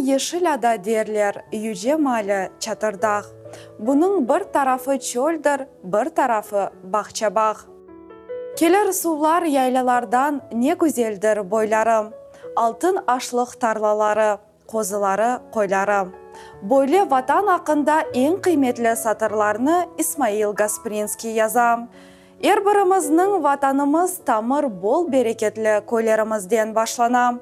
Yeşil ada derler, yüce mali Çatırdağ. Bunıñ bir tarafı çöldir, bir tarafı bağça-bağ. Kelir suvlar yaylalardan, ne güzeldir boyları. Altın aşlıq tarlaları, qozuları, qoyları. Böyle Vatan aqqında eñ qıymetli satırlarnı İsmail Gasprinskiy yaza. Er birimizniñ Vatanımız tamır bol bereketli köylerimizden başlana.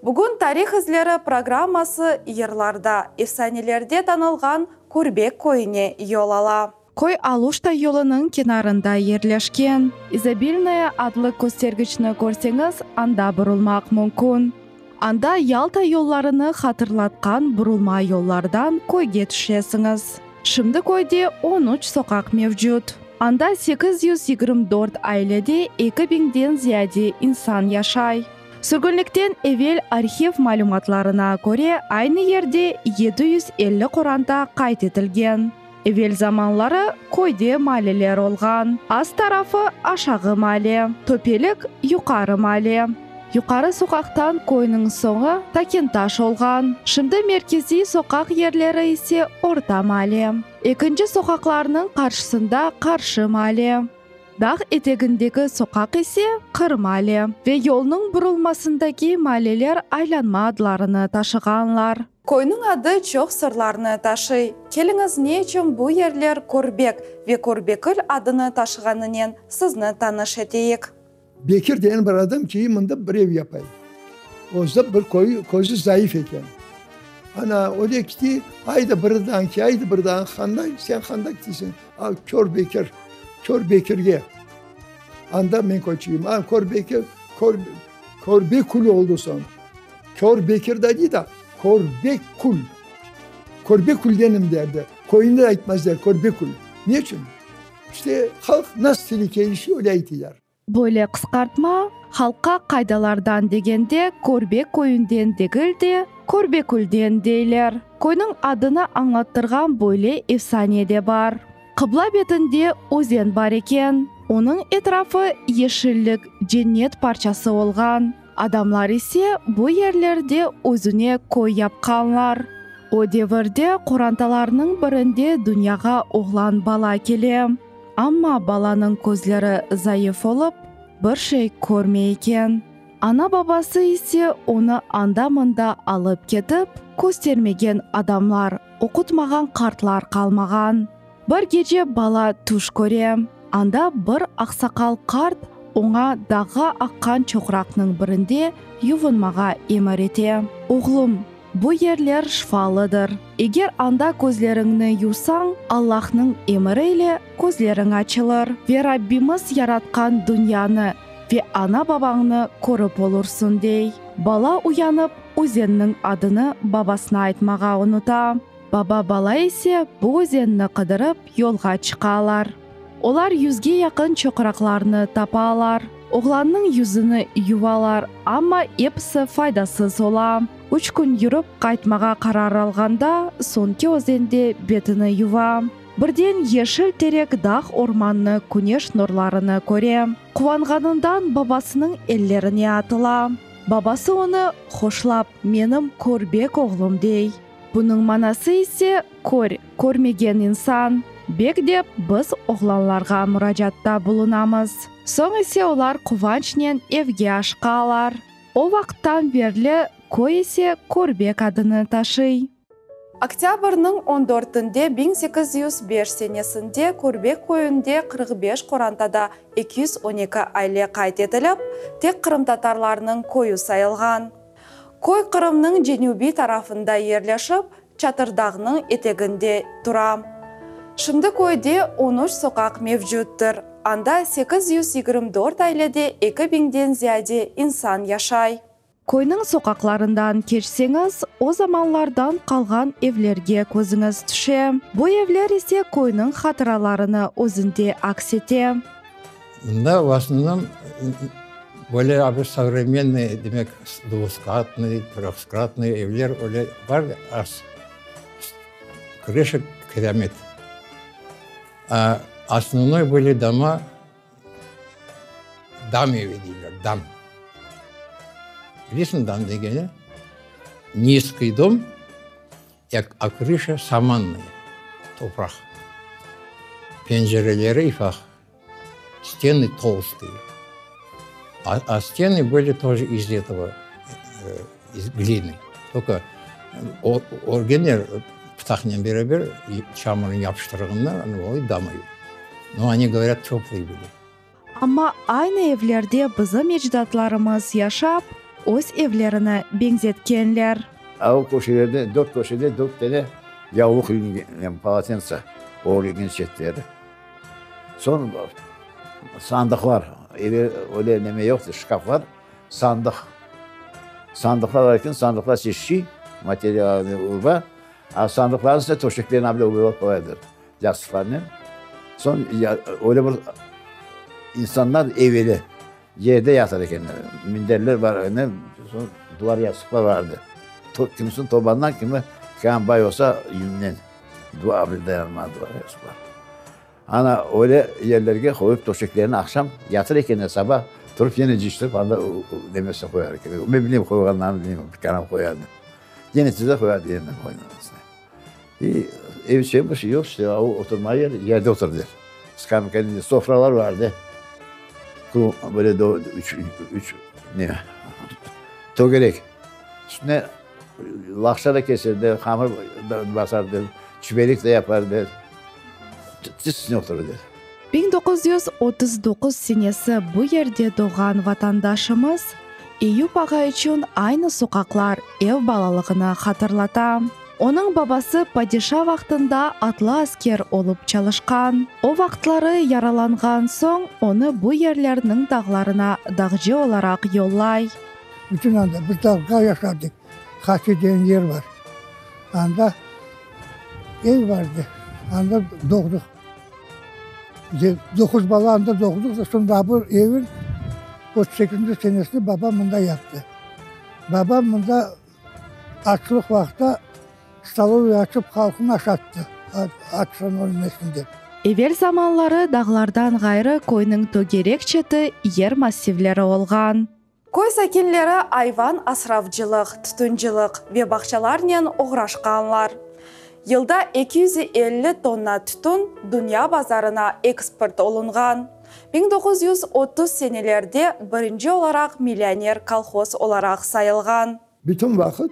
Bugün Tarih izleri programması yırlarda, efsanelerde tanılğan Körbek köyüne yol ala. Köy Aluşta yolunıñ kenarında yerleşken. İzobilnoye adlı köstergiçni körseñiz, anda burulmaq mümkün. Anda Yalta yollarını hatırlatqan burulma yollardan köyge tüşesiñiz. Şimdi köyde on üç soqaq mevcut. Anda 824 ailede eki biñden ziyade insan yaşay. Sürgünlikten evel arhiv malümatlarına köre aynı yerde 750 qoranta qayd etilgen. Evel zamanları köyde maalleler olğan, ast tarafı Aşağı maale, töpelik Yuqarı maale. Yuqarı soqaqtan köyniñ soñu Takintaş olğan, şimdi merkeziy soqaq yerleri ise Orta maale. Ekinci soqaqlarnıñ qarşısında Qarşı maale. Dağ etegindeki soqaq ise Qır maale ve yolnıñ burulmasındaki maaleler aylanma adlarını taşığanlar. Köyniñ adı çoq sırlarnı taşıy. Keliñiz ne içün bu yerler Körbek ve Körbekül adını taşığanınen sizni tanış eteyik. Bekir degen bir adam ki, mında bir ev yapay. Ozda bir köy, közü zayıf eken. Ana, öyle kiti, ayda birdan ki, ayda birdan handa, sen handa kitiysiñ? A, Kör Bekir, Kör Bekirge. Anda men köçeyim. A, Kör Bekir, Kör, Körbekül oldı soñ. Kör Bekir da dey da, Körbekül. Körbeküldenim derdi. Köyüni de aytmaz der, Körbekül. Ne içün? İşte, halq nasıl tili kelişe, öyle aytılar. Böyle qısqartma, halqqa qaydalardan degende Körbek köyünden degil de, Körbekülden deyler. Köyniñ adını añlattırğan böyle efsane de bar. Qıbla betinde özen bar eken. Onıñ etrafı yeşillik, cennet parçası olğan. Adamlar ise bu yerlerde özüne köy yapqanlar. O devirde qorantalarnıñ birinde dünyağa oğlan bala kele. Amma balanıñ közleri zayıf olıp, bir şey körmey eken. Ana-babası ise onı anda-mında alıp ketip, köstermegen adamlar, oqutmağan qartlar qalmağan. Bir gece bala tüş köre. Anda bir aqsaqal qart oña dağğa aqqan çoqraqnıñ birinde yuvunmağa emir ete. Oğlum, bu yerler şifalıdır. Eger anda közleriñni yuvsañ, Allahnıñ emiri ile közleriñ açılır ve Rabbimiz yaratqan dünyanı ve ana-babañnı körip olursıñ, dey. Bala uyanıp, özenniñ adını babasına aytmağa unuta. Baba-bala ise bu özenni qıdırıp yolğa çıqalar. Olar yüzge yaqın çoqraqlarnı tapalar. Oğlannıñ yüzüni yuvalar, amma episi faydasız ola. Üç kün yürip qaytmağa qarar alğanda, soñki özende betini yuva. Birden yeşil terek dağ ormannı küneş nurlarını köre. Quvanğanından babasınıñ ellerine atıla. Babası onı hoşlap, menim körbek oğlum dey. Bunıñ manası ise kör, körmegen insan, bek dep biz oğlanlarğa muracaatta bulunamız. Soñ ise olar quvançnen evge aşqalar. O vaqıttan berli köy ise Körbek adını taşıy. Oktâbrniñ on dörtünde 1805 senesinde Körbek köyünde 45 qorantada 212 aile qayd etilip, tek qırımtatarlarnıñ köyü sayılğan. Köy Qırımnıñ cenübiy tarafında yerleşip, Çatırdağnıñ eteginde tura. Şimdi köyde on üç soqaq mevcuttır, anda 824 ailede eki biñden ziyade insan yaşay. Köyniñ soqaqlarından keçseñiz, o zamanlardan qalğan evlerge közüñiz tüşe. Bu evler ise köyniñ hatıralarını özünde aks ete. Mında v osnovnom böyle abi sovremenniy, demek, dvuhskatnıy, tröhskatnıy evler öyle bar az, krışa kiremit. A osnovnoy böyle doma dam evi deyler, dam. Bilesiñ dam degeni? Nizkiy dom, a krışa samannaya, topraq. Pencereleri ifaq, stenı tolstıye. A, a stenı bıli toje iz etogo, iz glinı. Tolko örgenler pıtaqnen beraber çamurnen yapıştırğanlar, anavı damay. No, oni govorât, töplıy bıli. Amma aynı evlerde bizim ecdatlarımız yaşap, öz evlerini beñzetkenler. A o köşelerde, dört köşede dört tane yavluq ilingen, polotensa örülgen çetleri. Soñ sandıqlar, evel öyle neme yoqtı, şkaflar, sandıq. Sandıqlar bar eken, sandıqlar çeşit material, urba, a sandıqlarnıñ üstüne töşeklerini bile qoyıp qoyadılar. Yastıqlarnen. Soñ öyle bir insanlar eveli yerde yatar ekenler. Minderler bar edi, soñ duvar yastıqlar bar edi. Kimisiniñ tobandan, kimi kân bay olsa yünden. Duvar bile dayanmaz duvar yastıqlar. Ana öyle yerlerge qoyıp töşeklerini aqşam yatır ekenler, saba turıp yene cıyıştırıp anda nemesine qoyar ekenler. Men bilmeyim qoyğanlarını bilmeyim, bir kanal qoyardı. Yene tize qoyardı, yene qoyardı. İ, ev içi bir şey yoq işte, o oturma yer, yerde oturdılar. Skameykanı, sofralar vardı. Böyle do, üç, üç, ne, tögerek. Üstüne laqça da keserdi, hamır da basardı, çiberik de yapardı. Tiz üstüne oturırdı. 1939 senesi bu yerde doğğan vatandaşımız Eyüp ağa içün aynı soqaqlar ev balalığını hatırlata. Onıñ babası padişa vaqtında atlı asker olıp çalışqan. O vaqıtları yaralanğan soñ onı bu yerlerniñ dağlarına dağcı olaraq yollay. Bütün anda biz dağda yaşadıq. Qaçı degen yer bar. Anda ev bardı. Anda doğdıq. Doquz bala anda doğdıq da, soñ daa bir evin 38-nci senesinde babam mında yaptı. Babam mında açlıq vaqıtta stolovoy açıp halqnı aşattı, açtan ölmesin dep. Evel zamanları dağlardan ğayrı köyniñ tögerek çeti yer massivleri olğan. Köy sakinleri ayvan asravcılıq, tütüncılıq ve bağçalarnen oğraşqanlar. Yılda 250 tonna tütün dünya bazarına eksport olunğan. 1930 senelerde birinci olaraq millioner kolhoz olaraq sayılğan. Bütün vaqıt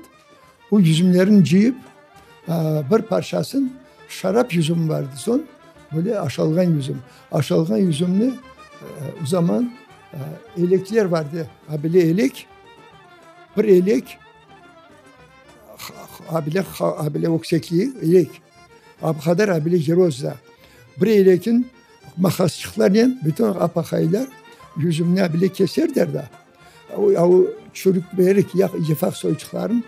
o yüzümlerini cıyıp, bir parçasın şarap yüzümi vardı, soñ böyle aşalğan yüzüm. Aşalğan yüzümni o zaman elekler vardı, a bile elek, bir elek, a bile, a bile öksekliği elek, a bu qadar a bile yerozda. Bir elekin maqasçıqlarnen bütün apaqaylar yüzümni a bile keserler da. A o çürük berik yefaq soyçıqların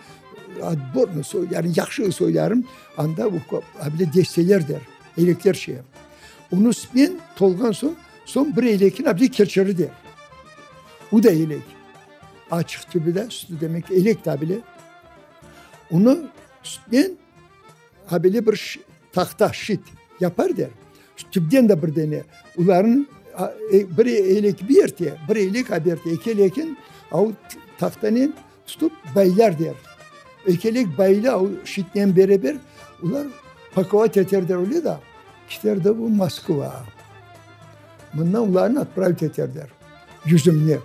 otbornıy soy, yani yahşı soyların anda a bile desteler der, elekler şey. Onı men tolğan soñ, soñ bir elekin a bile kerçeri der. O da elek. Açıq tübü de, sütü demek elek de bile. Onı sütnen a bile bir tahta, şit yapar der. Tüpten de bir dene. Olarnıñ bir elek bir erte, bir elek a berte, eki elekin a o tahtanen tutıp baylar der. Eki elek baylı a o şitnen beraber olar pakovat eterler öyle da, kiter de bu Moskva. Mından olarnı otpravit eterler yüzümni.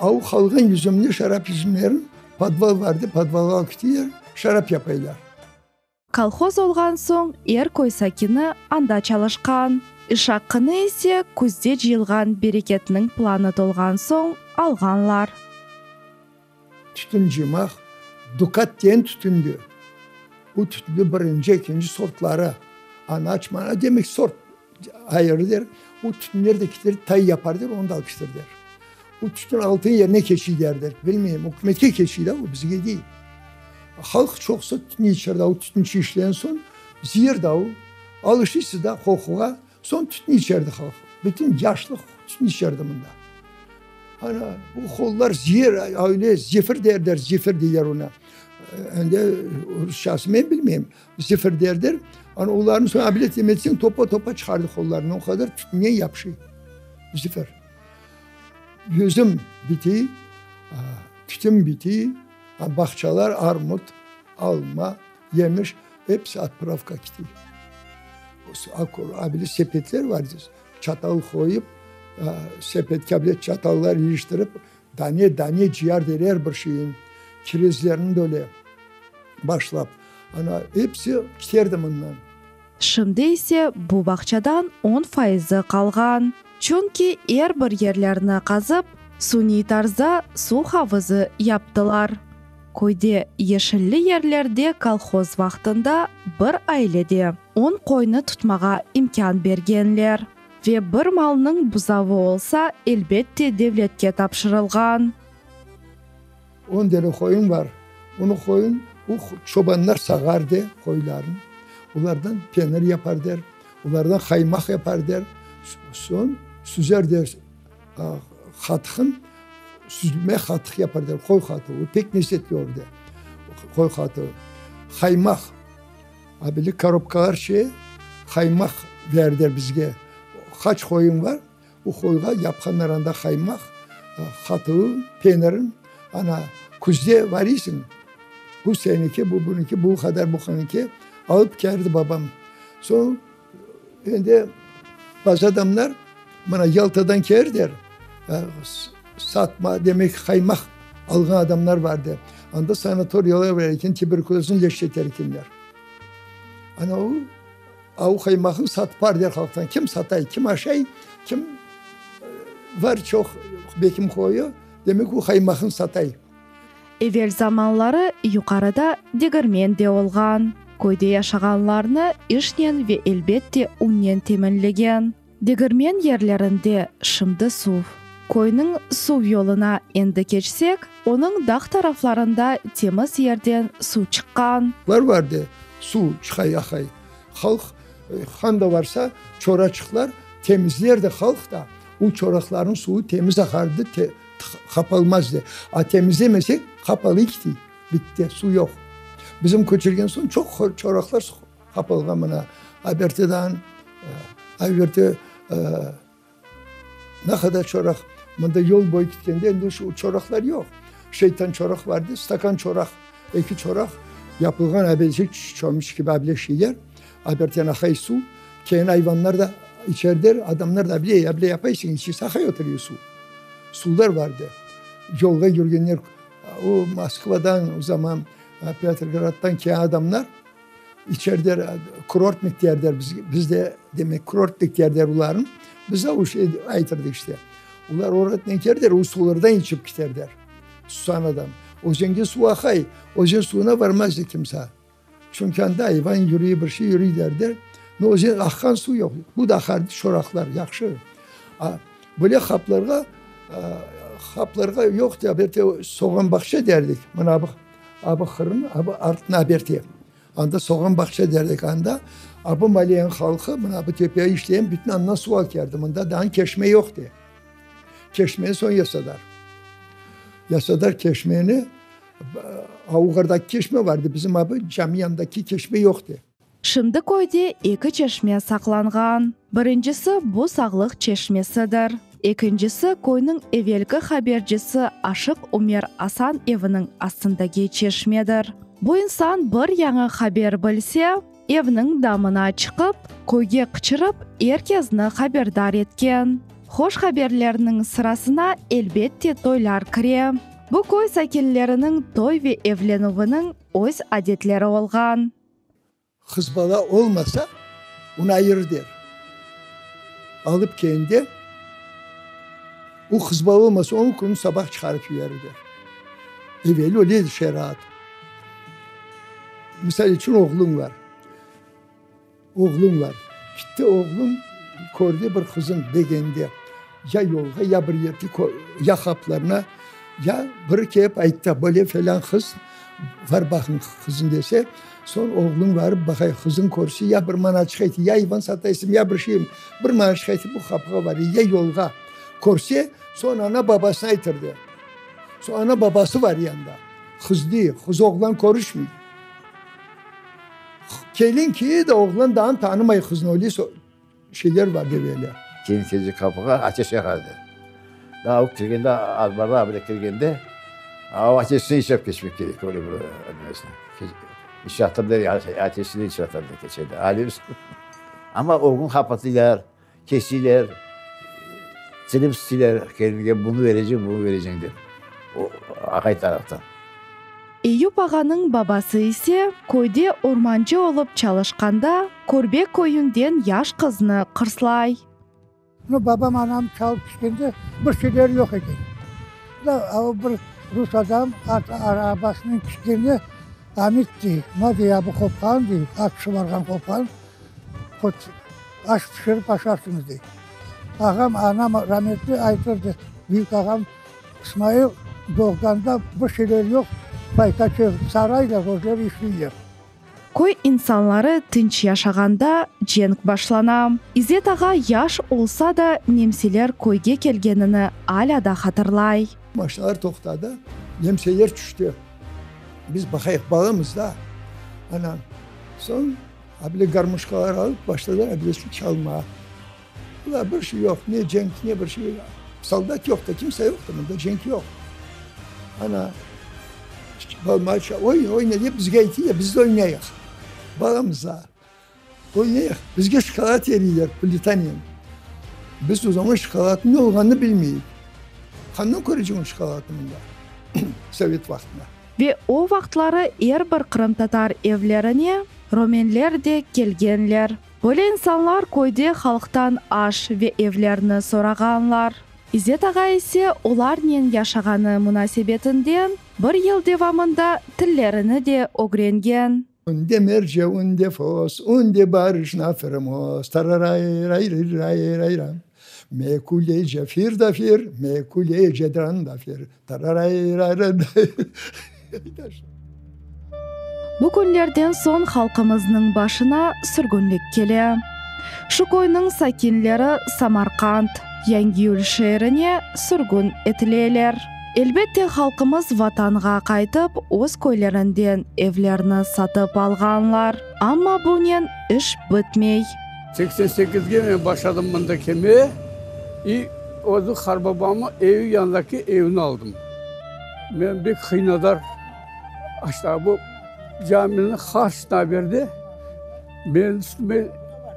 A o qalğan yüzümni, şarap yüzümlerin podval vardı, podvalğa kitiler, şarap yapaylar. Kolhoz olğan soñ er köy sakini anda çalışqan. İş aqqını ise küzde cıyılğan bereketniñ planı tolğan soñ alğanlar. Tütün cıymaq Dukat diyen tütündi. Bu tütünde birinci, ekinci sortları, anaç, mana demek sort ayırı der. Bu tütünler de kiter tay yapar der, onu da alıp kiter der. Bu tütün altın yerine keçiy der, bilmeyim, ükümetke keçiy da, o bizge değil. Halq çoqusı tütün içer da, o tütün işleyen soñ zeer da o, alışıysız da qoquğa, soñ tütün içerdi halq. Bütün yaşlıq tütün içerdi mında. Ana, bu qollar zeer, öyle zefir derler, zefir deyler ona. Endi rusçası men bilmeyim. Zefir derler. Ana olarnı soñ abilet emetseñ topa-topa çıqardı qollarını. O qadar tütünden yapışıy. Zefir. Yüzüm bitiy, tütün bitiy, bağçalar, armut. Alma, yemiş, episi otpravka kete. Abile sepetler var, çatal qoyıp, sepetke abile çatallar iliştirip, dane dane cıyar der er bir şeyin, kirezlerni de öyle başlap. Ana, episi kiterdi mından. Şimdi ise bu bağçadan on fayızı qalğan, çünki er bir yerlerni qazıp, suniy tarzda suv havuzı yaptılar. Köyde yeşilli yerlerde kolhoz vaqtında bir ailede on qoynı tutmağa imkân bergenler ve bir malnıñ buzavı olsa, elbette devletke tapşırılğan. On dene qoyun bar. Onı qoyun, o çobanlar sağar de qoylarnı. Olardan penir yapar der, olardan qaymaq yapar der. Soñ süzer der qatıqın, süzme qatıq yapar der, qoy qatığı. O pek lezzetli olur der, qoy qatığı. Qaymaq, a böyle korobkalar şey, qaymaq ber der bizge. Qaç qoyun bar, O qoyğa yapqanlar anda qaymaq, qatığı, penirin. Ana, küzde variysiñ, bu seniki, bu buniki, bu qadar buqaniki alıp keldi babam. Soñ endi bazı adamlar mına Yaltadan keldiler, satma, demek qaymaq alğan adamlar vardı. Anda sanatoriyalar bar eken, tuberkulöznı leşeter ekenler. Ana o. Avu qaymaqnı satıp der halqtan. Kim satay, kim aşay, kim var çoq bekim qoyu, demek o qaymaqnı satay. Evel zamanları yuqarıda degirmen de olğan. Köyde yaşağanlarnı işnen ve elbette unnen teminlegen. Degirmen yerlerinde şimdi suv. Köyniñ suv yoluna endi keçsek, onıñ dağ taraflarında temiz yerden suv çıqqan. Bar bar de, suv çıqay aqay. Halq qanda varsa, çoraçıqlar temizlerdi halq da, o çoraqlarnıñ suvu temiz aqardı, qapalmazdı. A temizlemesek, qapalı kiti, bitti, suv yoq. Bizim köçürgen soñ çoq çoraqlar Qapalğan mına Abertidan, Aberti ne qadar çoraq, mında yol boyu ketkende endi şu çoraqlar yoq. Şeytan çoraq vardı, stakan çoraq, eki çoraq yapılğan abelce çomuç kibi able şeyler, Aberten aqay suv, keyin ayvanlar da içerdiler, adamlar da able, able yapaysıñ, içse aqay oturuyor suv. Suvlar vardı. Yolğa yürgenler, o Moskvadan o zaman Petrograddan kelgen adamlar, İçeride kurortnik derler, biz de demek kurortnik derler olarnı, biz de o şey aytırdı işte. Olar oradan kelirler, o sulardan içip kiterler, susan adam. Özenge suv aqay, özen suvuna barmazdı kimse. Çünki anda ayvan yürüy, bir şey yürüy derler. No özen aqqan suv yoq. Bu da aqardı, çoraqlar yahşı. A böyle haplarğa, haplarğa yoq da, bir de soğan bağça derdik. Mına bu. Abı Qırım, abı artına berte. Anda soğan bağça derdik anda. Abı maliyenin halqı mına bu tepeye işleyen bütün andan suv alıp keldi. Mında daa keşme yoqtı. Keşmeni soñ yasadılar. Yasadılar keşmeni. Avğardaki keşme vardı. Bizim abı cami yanındaki keşme yoqtı. Şimdi köyde eki çeşme saqlanğan. Birincisi bu Sağlıq çeşmesidir. Ekincisi köyniñ evelki habercisi Aşıq Ümer Asan eviniñ astındaki çeşmedir. Bu insan bir yañı haber bilse, evniñ damına çıqıp, köyge qıçırıp, er kezni haberdar etken. Hoş haberlerniñ sırasına elbette toylar kire. Bu köy sakinleriniñ toy ve evlenüviniñ öz adetleri olğan. Qız bala olmasa, onı ayırı der. Alıp kendi, o qız bala olmasa, on kün sabah çıqarıp yiberir der. Evel öyle edi şeriat. Misal içün, oğluñ bar. Oğluñ bar. Gitti oğluñ, kördi bir qızın begendi. Ya yolğa, ya bir yerde, ya haplarına, ya biri kelip ayttı, böyle felân qız var, baqıñ qızın dese, soñ oğluñ barıp baqay, qızın körse, ya bir manaçıq aytı, ya ayvan sataysıñ, ya bir şey, bir manaçıq aytı, bu qapığa var, ya yolğa körse, soñ ana-babasına aytırdı. Soñ ana-babası var yanında. Qız değil, qız oğlan körüşmey. Kelin ki de oğlan daa tanımay qıznı, öyle Şeyler bar dep ele. Kelin keldi qapığa, ateş yaqardı. Daa o kirgende, azbarğa bile kirgende, o ateşni işep keçmek kerek, öyle bir nemesini. İç yatırdı, ateşini iç yatırdı keçende. Alevsiz. Amma o kün qapatıylar, kesiyler, tilip isteyler kelinge bunı vereceñ, bunı vereceñ dep, o aqay taraftan. Eyüp ağanıñ babası ise köyde ormancı olıp çalışqanda Körbe köyünden yaş qıznı qırslay. Nu, babam, anam çalıp tüşkende bir şeyleri yoq eken. Da, o bir rus adam at arabasınen tüşkende, Amit dey, ma dey, a bu qopqan dey, at şıvarğan qopqan, qot aş pişirip aşarsıñız dey. Ağam, anam rametli aytırdı, büyük ağam İsmail doğğanda bir şeyleri yoq, paytaçı saraylar, özleri işleyler. Köy insanları tınç yaşağanda cenk başlana. İzzet ağa yaş olsa da, nemseler köyge kelgenini alâ da hatırlay. Maşinalar toqtadı, nemseler tüşti. Biz baqayıq, balamız da. Ana, soñ abile garmoşkalar alıp başladılar abilesini çalmağa. Bular bir şey yoq, ne cenk, ne bir şey. Soldat yoq da, kimse yoq da, mında cenk yoq. Ana, balmaça, oyna, oyna dep bizge aytıylar, biz de oynayıq. Balamız da. Oynayıq. Bizge şokolad beriyler, plitanen. Biz o zaman şokoladnıñ ne olğanını bilmeyik. Qandan köreceñ o şokoladnı mında, sovet vaqtında. Ve o vaqıtları er bir qırımtatar evlerine romenler de kelgenler. Böyle insanlar köyde halqtan aş ve evlerni sorağanlar. İzzet ağa ise olarnen yaşağanı munasebetinden bir yıl devamında tillerini de ögrengen. Unde merce, unde fos, unde barışna firmos, tararay-ray-ray-ray-ray-ram. Me kulece fir da fir, me kulece dran da fir, tararay-ray-ray-ray. Bu künlerden soñ halqımıznıñ başına sürgünlik kele. Şu köyniñ sakinleri Samarqand, Yangiyül şeerine sürgün etileler. Elbette, halqımız Vatanğa qaytıp, öz köylerinden evlerni satıp alğanlar. Amma bunen iş bitmey. 88-ge men başladım mında kelmeye i özü qarbabamnıñ evi yanındaki evni aldım. Men bek qıynadar. Aşağı bu camini harçına berdi. Menim üstüme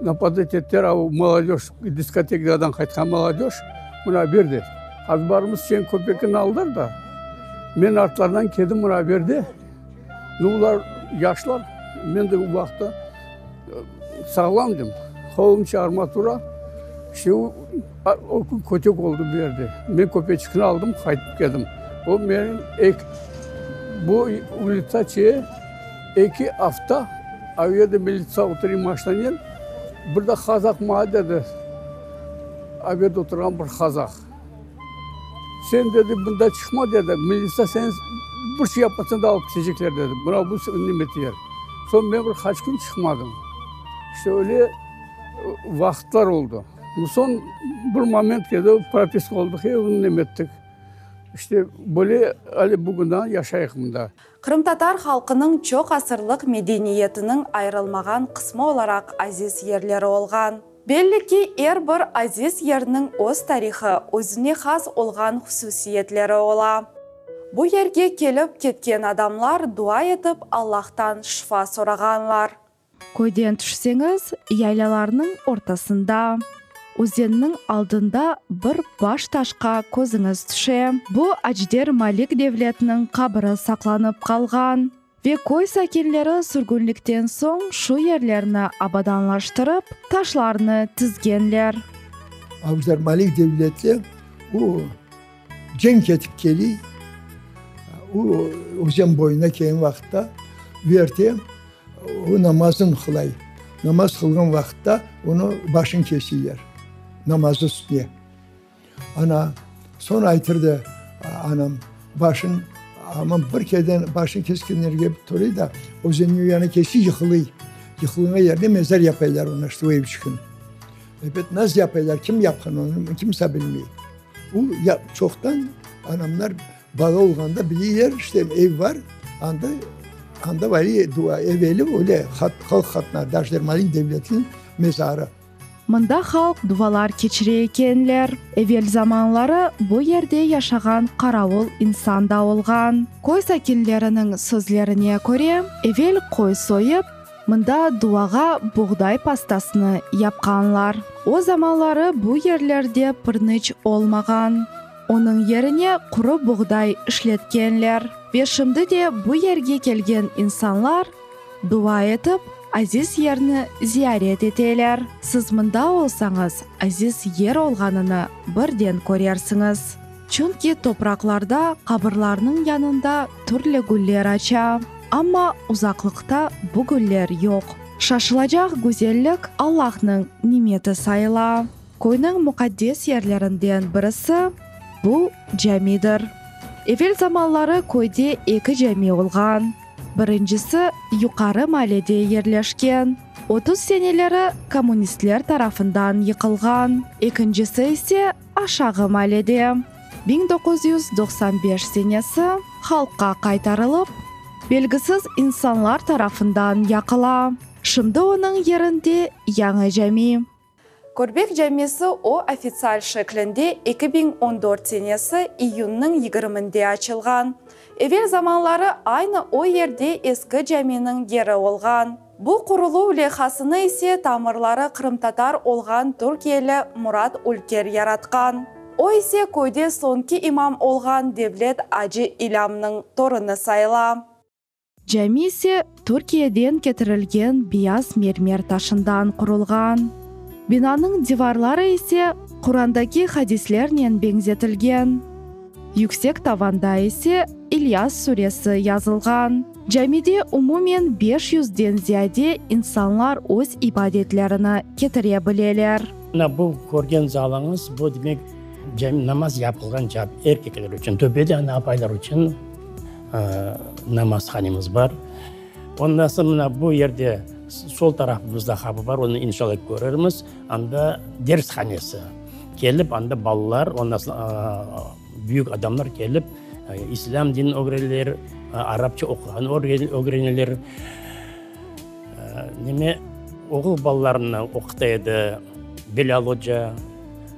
napadat ettiler, a molodej, diskotekadan qaytqan molodej mına berdi. Azbarımız sen köpekni aldılar da, men artlarından keldim mına berdi. Nu, olar yaşlar, men de o vaqıtta sağlamdım. Qolumça armatura, işte o, o kün kötek oldı bu yerde. Men köpeçikni aldım, qaytıp keldim. O menim ek, bu ulitsa çe eki afta o yerde militsa oturıy maşinanen, bir de qazaq maña dedi, o yerde oturğan bir qazaq. Sen, dedi, bunda çıqma, dedi, militsa seni bir şey yapmasañ da alıp ketecekler, dedi. Mına bu neme yer. Soñ men bir qaç kün çıqmadım. İşte öyle vaqıtlar oldı. Soñ bir moment keldi, propiska oldıq, evni neme ettik. İşte böyle ale bugündan yaşayıq mında. Qırımtatar halqınıñ çoq asırlıq medeniyetiniñ ayırılmağan qısmı olaraq aziz yerleri olğan. Belli ki, er bir aziz yerniñ öz tarihı, özüne has olğan hususiyetleri ola. Bu yerge kelip ketken adamlar dua etip Allahtan şifa sorağanlar. Köyden tüşseñiz, yaylalarnıñ ortasında, özenniñ aldında bir baş taşqa közüñiz tüşe. Bu Acder Malik devletiniñ qabiri saqlanıp qalğan. Ve köy sakinleri sürgünlikten soñ şu yerlerni abadanlaştırıp, taşlarnı tizgenler. Acder Malik devleti o cenk etip keliy, o özen boyuna kelgen vaqıtta, bu yerde O namazın qılay. Namaz qılğan vaqıtta onı başın kesiyler, namazı üstüne. Ana, soñ aytırdı anam, başın, aman bir kereden başın keskenlerge toray da, özenniñ o yanı kelse yıqılıy. Yıqılğan yerde mezar yapaylar ona, işte o evçikni. Ebet, nasıl yapaylar, kim yapqan onı, kimse bilmey. O ya çoqtan anamlar Bala olğanda bileyler, işte ev bar, anda, anda var dua, eveli öyle halq hatına, Daşdermalin devletiniñ mezarı. Mında halq duvalar keçire ekenler. Evel zamanları bu yerde yaşağan qaravul insan da olğan. Köy sakinleriniñ sözlerine köre, evel qoy soyıp, mında duvağa buğday pastasını yapqanlar. O zamanları bu yerlerde pırnıç olmağan. Onıñ yerine quru buğday işletkenler. Ve şimdi de bu yerge kelgen insanlar dua etip, aziz yerni ziyaret eteler. Siz mında olsañız, aziz yer olğanını birden körersiñiz. Çünki topraqlarda qabırlarnıñ yanında türlü güller aça, amma uzaqlıqta bu güller yoq. Şaşılacaq güzellik Allahnıñ nimeti sayıla. Köyniñ muqaddes yerlerinden birisi, bu camidir. Evel zamanları köyde eki cami olğan. Birincisi yuqarı maalede yerleşken, 30 seneleri kommunistler tarafından yıqılğan, ekincisi ise aşağı maalede, 1995 senesi halqqa qaytarılıp, belgisiz insanlar tarafından yaqıla. Şimdi onıñ yerinde yañı cami. Körbek camisi o ofitsial şeklinde 2014 senesi iyünniñ yigirminde açılğan. Evel zamanları aynı o yerde eski caminiñ yeri olğan. Bu quruluv leyhasını ise tamırları qırımtatar olğan türkiyeli Murat Ülker yaratqan. O ise köyde soñki imam olğan Devlet acı İlâmnıñ torunı sayıla. Cami ise Türkiyeden ketirilgen beyaz mermer taşından qurulğan. Binanıñ divarları ise Qurandaki hadislernen beñzetilgen. Yüksek tavanda ise İlyas suresi yazılğan. Camide umumen beş yüzden ziyade insanlar öz ibadetlerini ketire bileler. Mına bu körgen zalıñız, bu demek cami, namaz yapılğan cami, erkekler içün, töpede ana apaylar içün Namazhanemiz bar. Ondan soñ mına bu yerde sol tarafımızda qapı bar, onı inşallah körermiz. Anda dershanesi. Kelip anda balalar, ondan soñ büyük adamlar kelip islâm dinini ögreneler, arapça oquğanı ögreneler. Neme, oğul balalarını oquta edi Bilâl oca.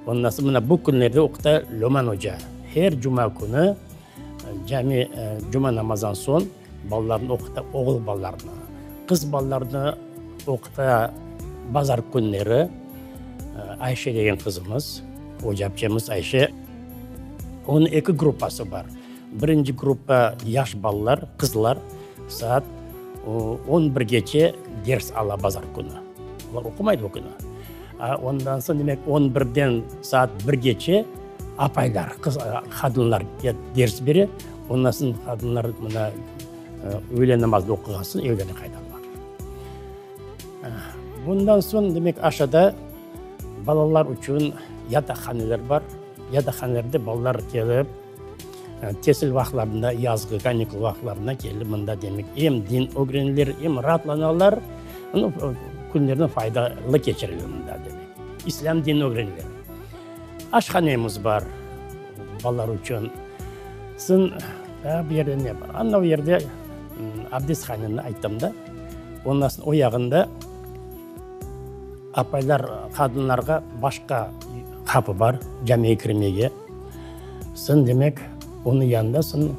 Ondan soñ mına bu künlerde oquta Löman oca. Her cuma künü Cami cuma namazdan soñ balalarnı oquta, oğul balalarnı. Qız balalarnı oquta bazar künleri Ayşe degen qızımız, ocapçemiz Ayşe. Onıñ eki gruppası bar. Birinci gruppa yaş balalar, qızlar, saat on birgece ders ala bazar künü. Olar oqumaydı o künü. Ondan soñ, demek, on birden saat birgece Apaylar, qız, qadınlar ders bere, ondan soñ qadınlar mına öğle namazını oquğan soñ evlerine qaytalar. Bundan soñ, demek, aşağıda balalar içün yataqhaneler bar. Yataqhanelerde balalar kelip, tesil vaqıtlarında, yazğı kanikul vaqıtlarında kelip mında, demek, em din ögreneler, em raatlanalar, künlerini faydalı keçireler mında, demek. İslâm dinini ögreneler. Aşhanemiz bar balalar içün. Soñ daa bir yerde ne bar? Anda o yerde abdesthaneni ayttım da. Ondan soñ o yağında apaylar, qadınlarğa başqa qapı bar camiye kirmege. Soñ demek, onıñ yanında soñ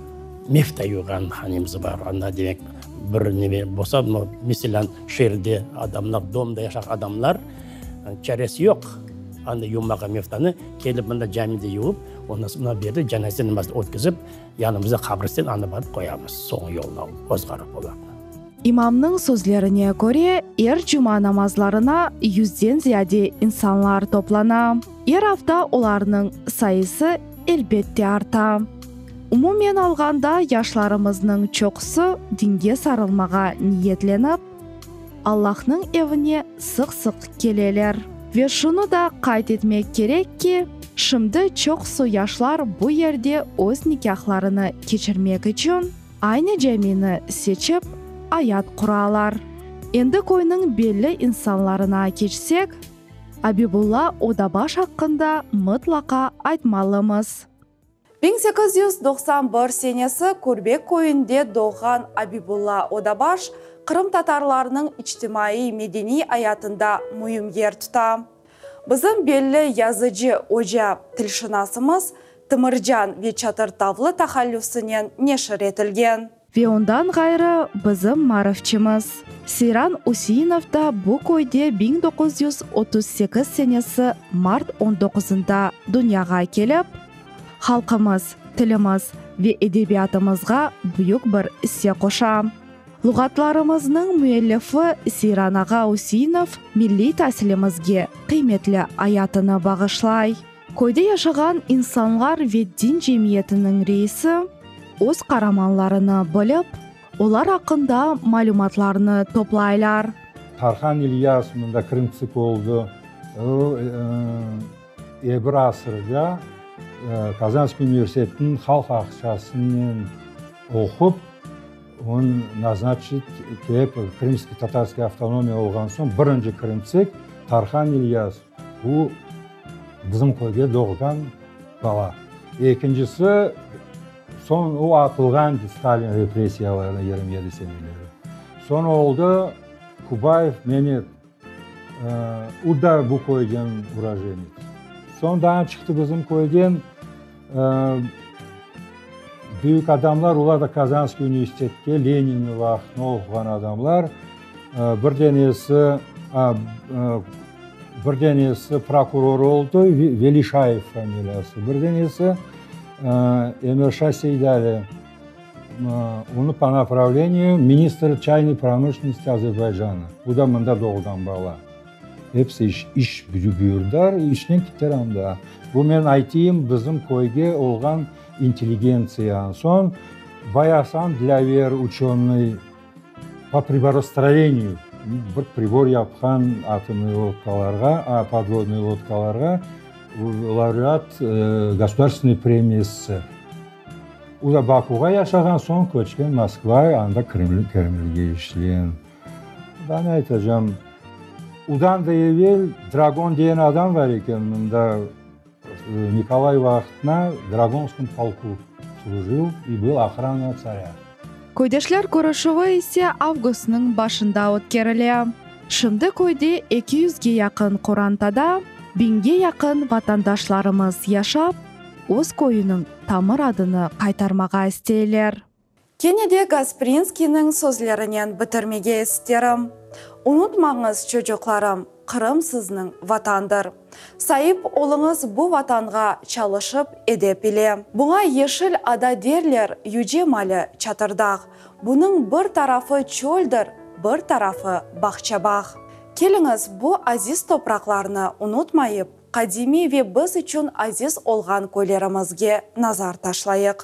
mefta yuvğan hanemiz bar. Anda demek bir neme bolsa, meselâ, şeerde adamlar, domda yaşağan adamlar çaresi yoq. Anda yuvmağa meftanı, kelip mında camide yuvıp, ondan soñ mına bu yerde cenaze namazını ötkizip, yanımızda qabristan, anda barıp qoyamız, soñu yoluna ozğarıp olarnı. İmamnıñ sözlerine köre, er cuma namazlarına yüzden ziyade insanlar toplana. Er afta olarnıñ sayısı, elbette, arta. Umumen alğanda, yaşlarımıznıñ çoqusı dinge sarılmağa niyetlenip, Allahnıñ evine sıq-sıq keleler. Ve şunı da qayd etmek kerek ki, şimdi çoqusı yaşlar bu yerde öz nikâhlarını keçirmek içün aynı camini seçip, ayat quralar. Endi köyniñ belli insanlarına keçsek, Abibulla Odabaş aqqında mıtlaqa aytmalımız. 1891 senesi Körbek köyünde doğğan Abibulla Odabaş qırımtatarlarnıñ içtimaiy-medeniy ayatında müim yer tuta. Bizim belli yazıcı, oca, tilşınasımız Tımırcan ve Çatırtavlı tahallüsinen neşir etilgen. Ve ondan ğayrı bizim maarifçimiz Seyran Üseinov da bu köyde 1938 senesi mart on doquzında dünyağa kelip, halqımız, tilimiz ve edebiyatımızğa büyük bir isse qoşa. Luğatlarımıznıñ müellifi Seyran ağa Üseinov milliy tasilimizge qıymetli ayatını bağışlay. Köyde yaşağan insanlar ve din cemiyetiniñ reisi öz qaramanlarını bilip, olar aqqında malümatlarnı toplaylar. Tarhan İlyas mında krımtsik oldı. O, e bir asırda Kazanskiy universitetiniñ halq aqçasınen oqup, onı naznaçit etip, Krımskiy tatarskiy avtonomiya olğan soñ birinci krımtsik Tarhan İlyas. Bu bizim köyge doğğan bala. Ekincisi, soñ o atılğan Stalin repressiyalarına 27 seneleri. Soñ oldı Kubayev Memet, o da bu köyden urojenets. Soñ daa çıqtı bizim köyden büyük adamlar, olar da Kazanskiy universitetke Leninniñ vaqtında oquğan adamlar. Bir denesi bir denesi prokuror oldı, Velişayev familiyası, bir denesi Emirşa Seydali, onı po napravleniyu ministr çaynoy promışlennosti Azerbaycana, bu da mında doğğan bala. Episi iş, iş buyurdılar, işnen kittiler anda. Bu men aytayım bizim köyge olğan intelligentsiya. Soñ Bayasan Dilâver uçenıy po priborostroyeniyu bir pribor yapqan atomnıy lodkalarğa, podvodnıy lodkalarğa, laureat Gosudarstvennoy premiya SSR. O da Bakuğa yaşağan, soñ köçken Moskva, anda Kremlge işleyen. Daa ne aytacam, udan da evel Dragon degen adam bar eken mında, Nikolay vaqtına Dragonskом polku slujil i byl ohrana tsarâ. Köydeşler körüşüvi ise avgustnıñ başında ötkerile. Şimdi köyde eki yüzge yaqın qorantada biñge yaqın vatandaşlarımız yaşap, öz köyüniñ tamır adını qaytarmağa isteyler. Kene de Gasprinskiyniñ sözlerinen bitirmege isterim, Unutmañız, çocuqlarım, Qırım sizniñ Vatandır. Saip oluñız bu Vatanğa çalışıp, edep ile. Buña Yeşil ada derler, yüce mali Çatırdağ. Bunıñ bir tarafı çöldir, bir tarafı bağça-bağ. Keliñiz, bu aziz topraqlarnı unutmayıp, qadimiy ve biz içün aziz olğan köylerimizge nazar taşlayıq.